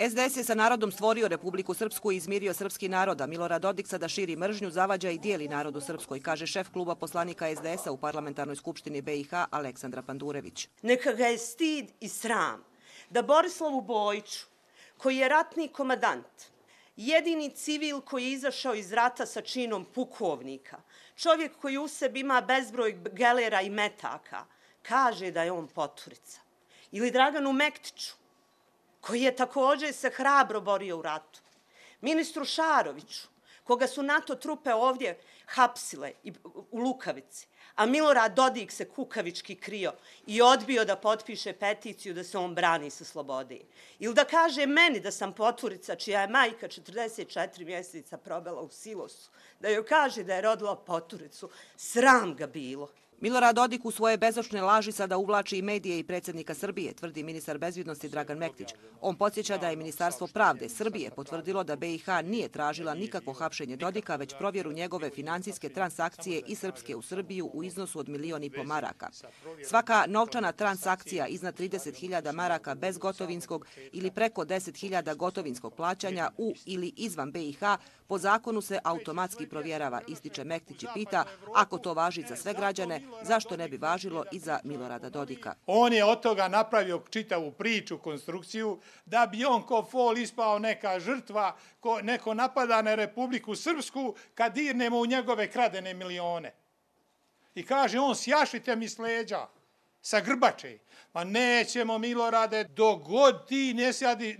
SDS je sa narodom stvorio Republiku Srpsku i izmirio srpski narod, a Milorad Dodik sada širi mržnju, zavađa i dijeli narod u Srpskoj, kaže šef kluba poslanika SDS-a u Parlamentarnoj skupštini BiH Aleksandra Pandurević. Neka ga je stid i sram da Borislavu Bojiću, koji je ratni komadant, jedini civil koji je izašao iz rata sa činom pukovnika, čovjek koji u sebi ima bezbroj gelera i metaka, kaže da je on poturica. Ili Draganu Mektiću, koji je također se hrabro borio u ratu. Ministru Šaroviću, koga su NATO trupe ovdje hapsile u Lukavici, a Milorad Dodik se kukavički krio i odbio da potpiše peticiju da se on brani sa slobode. Ili da kaže meni da sam poturica čija je majka 44 mjeseca probala u silosu, da joj kaže da je rodila poturicu, sram ga bilo. Milorad Dodik u svoje bezočne laži sada uvlači i medije i predsjednika Srbije, tvrdi ministar bezbjednosti Dragan Mektić. On podsjeća da je Ministarstvo pravde Srbije potvrdilo da BiH nije tražila nikakvo hapšenje Dodika, već provjeru njegove financijske transakcije iz Srpske u Srbiju u iznosu od 1,5 miliona maraka. Svaka novčana transakcija iznad 30.000 maraka bezgotovinskog ili preko 10.000 gotovinskog plaćanja u ili izvan BiH po zakonu se automatski provjerava, ističe Mektić i pita, ako to važi za sve građane, zašto ne bi važilo i za Milorada Dodika? On je od toga napravio čitavu priču, konstrukciju, da bi on ko fol ispao neka žrtva, neko napada na Republiku Srpsku kad dirnemo u njegove kradene milione. I kaže on, sjašite mi s leđa, sa grbače. Ma nećemo, Milorade, dok god ti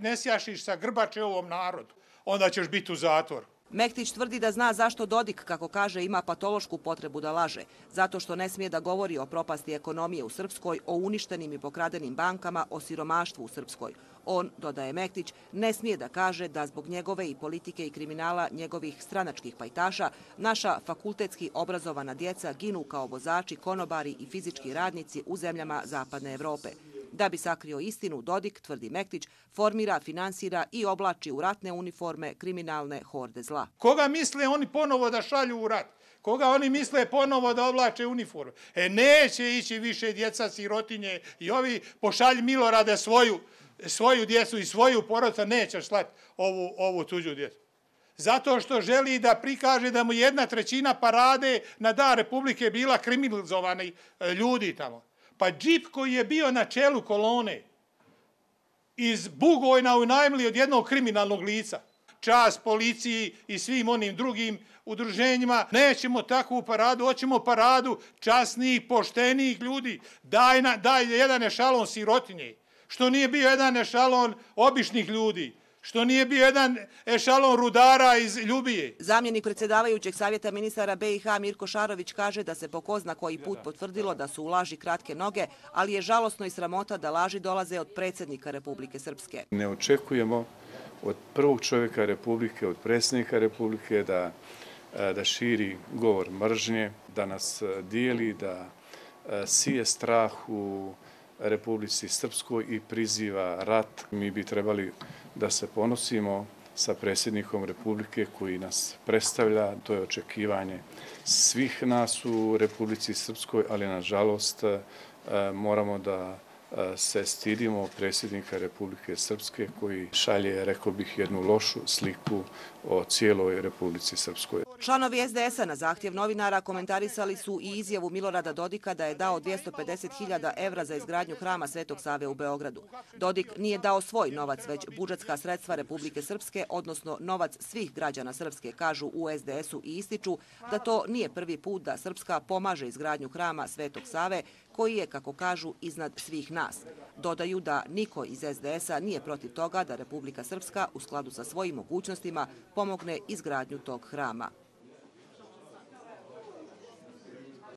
ne sjašiš sa grbače ovom narodu, onda ćeš biti u zatvoru. Mektić tvrdi da zna zašto Dodik, kako kaže, ima patološku potrebu da laže. Zato što ne smije da govori o propasti ekonomije u Srpskoj, o uništenim i pokradenim bankama, o siromaštvu u Srpskoj. On, dodaje Mektić, ne smije da kaže da zbog njegove i politike i kriminala njegovih stranačkih pajtaša naša fakultetski obrazovana djeca ginu kao vozači, konobari i fizički radnici u zemljama Zapadne Evrope. Da bi sakrio istinu, Dodik, tvrdi Mektić, formira, finansira i oblači u ratne uniforme kriminalne horde zla. Koga misle oni ponovo da šalju u rat? Koga oni misle ponovo da oblače uniforme? Neće ići više djeca sirotinje i ovi pošalji Milorade svoju djecu i svoju porodicu, neće slati ovu tuđu djecu. Zato što želi da prikaže da mu 1/3 parade na Dan Republike bila kriminalizovani ljudi tamo. Pa džip koji je bio na čelu kolone iz Bugojna unajmili od jednog kriminalnog lica. Čast policiji i svim onim drugim udruženjima. Nećemo takvu paradu, hoćemo paradu časnih, poštenih ljudi. Daj jedan ešalon sirotinje. Što nije bio jedan ešalon običnih ljudi. Što nije bio jedan ešalon rudara iz Ljubije. Zamjenik predsjedavajućeg savjeta ministara BiH Mirko Šarović kaže da se po ko zna koji put potvrdilo da su u laži kratke noge, ali je žalosno i sramota da laži dolaze od predsjednika Republike Srpske. Ne očekujemo od prvog čovjeka Republike, od predsjednika Republike da širi govor mržnje, da nas dijeli, da sije strah u Republici Srpskoj i priziva rat. Mi bi trebali da se ponosimo sa predsjednikom Republike koji nas predstavlja. To je očekivanje svih nas u Republici Srpskoj, ali nažalost moramo da se stidimo predsjednika Republike Srpske koji šalje, rekao bih, jednu lošu sliku o cijeloj Republici Srpskoj. Članovi SDS-a na zahtjev novinara komentarisali su i izjavu Milorada Dodika da je dao 250.000 evra za izgradnju hrama Svetog Save u Beogradu. Dodik nije dao svoj novac, već budžetska sredstva Republike Srpske, odnosno novac svih građana Srpske, kažu u SDS-u i ističu da to nije prvi put da Srpska pomaže izgradnju hrama Svetog Save, koji je, kako kažu, iznad svih nas. Dodaju da niko iz SDS-a nije protiv toga da Republika Srpska, u skladu sa svojim mogućnostima, pomogne izgradnju tog hrama.